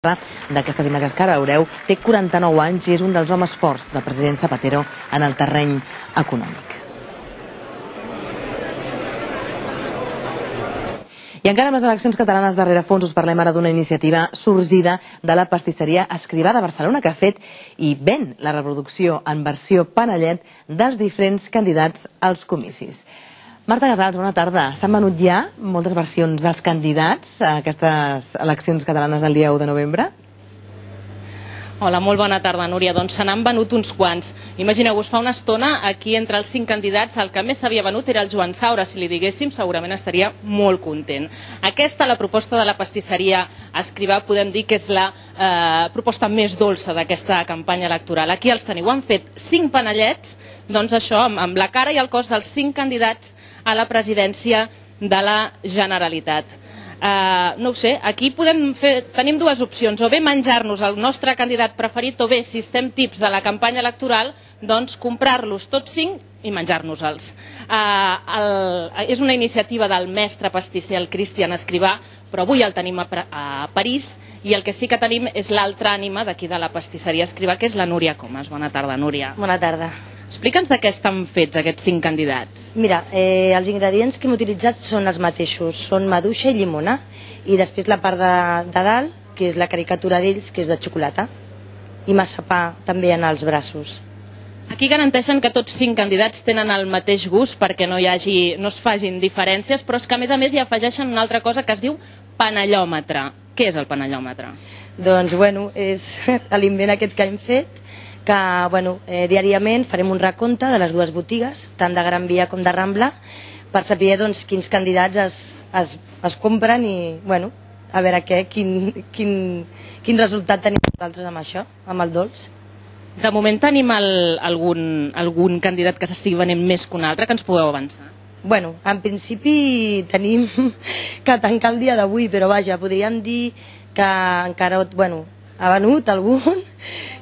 d'aquestes imatges que ara veureu, té 49 anys i és un dels homes forts del president Zapatero en el terreny econòmic. I encara amb les eleccions catalanes darrere fons us parlem ara d'una iniciativa sorgida de la pastisseria Escrivà de Barcelona que ha fet i ven la reproducció en versió panellet dels diferents candidats als comicis. Marta Casals, bona tarda. S'han venut ja moltes versions dels candidats a aquestes eleccions catalanes del dia 1 de novembre? Hola, molt bona tarda, Núria. Doncs se n'han venut uns quants. Imagineu-vos, fa una estona, aquí entre els 5 candidats, el que més s'havia venut era el Joan Saura. Si li diguéssim, segurament estaria molt content. Aquesta, la proposta de la pastisseria Escrivà, podem dir que és la proposta més dolça d'aquesta campanya electoral. Aquí els teniu, han fet 5 panellets, doncs això, amb la cara i el cos dels 5 candidats a la presidència de la Generalitat. No ho sé, aquí tenim dues opcions, o bé menjar-nos el nostre candidat preferit, o bé, si estem tips de la campanya electoral, doncs comprar-los tots 5 i menjar-nos-els. És una iniciativa del mestre pastisser, el Cristian Escrivà, però avui el tenim a París, i el que sí que tenim és l'altra ànima d'aquí de la pastisseria Escrivà, que és la Núria Comas. Bona tarda, Núria. Bona tarda. Explica'ns de què estan fets aquests 5 candidats. Mira, els ingredients que hem utilitzat són els mateixos, són maduixa i llimona, i després la part de dalt, que és la caricatura d'ells, que és de xocolata, i massapà també en els braços. Aquí garanteixen que tots 5 candidats tenen el mateix gust perquè no es facin diferències, però és que a més hi afegeixen una altra cosa que es diu panellòmetre. Què és el panellòmetre? Doncs, bueno, és l'invent aquest que hem fet, que diàriament farem un recompte de les dues botigues, tant de Gran Via com de Rambla, per saber quins candidats es compren i a veure quin resultat tenim nosaltres amb això, amb el dolç. De moment tenim algun candidat que s'estigui venent més que un altre, que ens pugueu avançar? En principi tenim que tancar el dia d'avui, però vaja, podríem dir que encara ha venut algun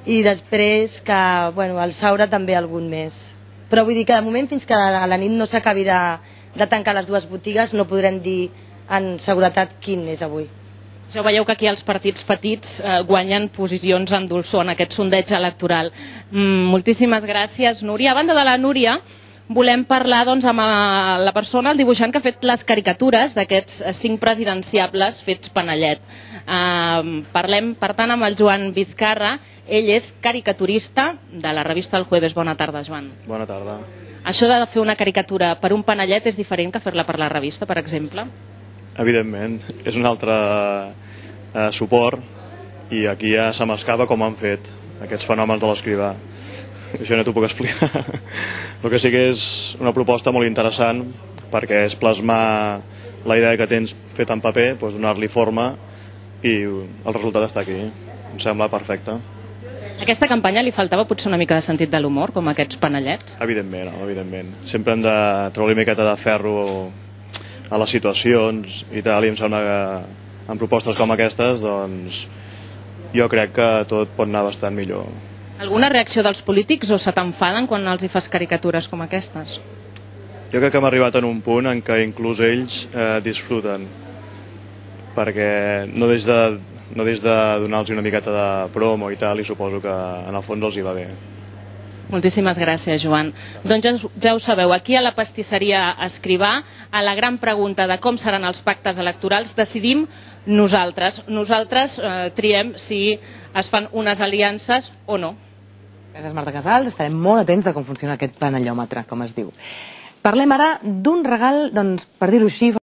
i després que el Saura també algun més. Però vull dir que de moment fins que a la nit no s'acabi de tancar les dues botigues no podrem dir en seguretat quin és avui. Ja veieu que aquí els partits petits guanyen posicions en dolçor en aquest sondeig electoral. Moltíssimes gràcies, Núria. A banda de la Núria, volem parlar amb la persona, el dibuixant que ha fet les caricatures d'aquests 5 presidenciables fets panellet. Parlem, per tant, amb el Joan Vizcarra. Ell és caricaturista de la revista El Jueves. Bona tarda, Joan. Bona tarda. Això de fer una caricatura per un panellet és diferent que fer-la per la revista, per exemple? Evidentment, és un altre suport i aquí ja se m'escapa com han fet aquests fenòmens de l'Escrivà. Això no t'ho puc explicar. El que sí que és una proposta molt interessant perquè és plasmar la idea que tens feta en paper, donar-li forma i el resultat està aquí. Em sembla perfecte. A aquesta campanya li faltava potser una mica de sentit de l'humor, com aquests panellets? Evidentment, evidentment. Sempre hem de treure una miqueta de ferro a les situacions i tal, i em sembla que en propostes com aquestes doncs jo crec que tot pot anar bastant millor. Alguna reacció dels polítics o se t'enfaden quan els hi fas caricatures com aquestes? Jo crec que hem arribat en un punt en què inclús ells disfruten, perquè no des de donar-los una miqueta de promo i tal, i suposo que en el fons els hi va bé. Moltíssimes gràcies, Joan. Doncs ja ho sabeu, aquí a la pastisseria Escrivà, a la gran pregunta de com seran els pactes electorals, decidim nosaltres. Nosaltres triem si es fan unes aliances o no. Gràcies, Marta Casals. Estarem molt atents de com funciona aquest panellòmetre, com es diu. Parlem ara d'un regal, doncs, per dir-ho així,